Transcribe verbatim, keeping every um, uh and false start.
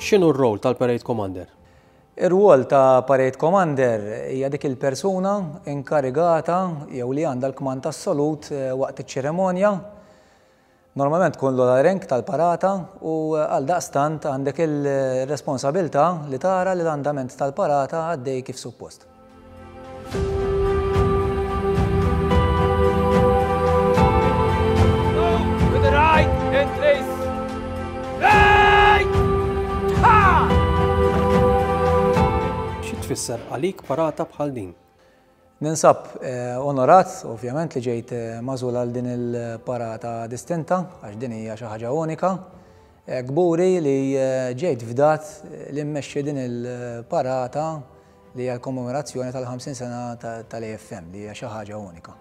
X'inhu r-rol tal-Parade Commander? Ir-rwol ta' Parade Commander hija dik il-persuna inkarigata jew li għandha l-kmand assolut eh, waqt iċ-ċerimonja. Normalment tkun l rank tal-parata u għal daqstant għandek il-responsabilità li tara li l-andament tal-parata għaddej kif suppost. To the right, entries. Right! Ha! Xi tfisser għalik parata bħal din? Ninsab eh, onorat, ovvjament, li ġejt eh, magħżul għal din il-parata distinta, għax din hija xi ħaġa unika. Eh, Kburi li eh, ġejt fdat li mmexxi din il-parata li hija l-kommemorazzjoni tal-ħamsin sena tal-A F M, li hija xi ħaġa unika.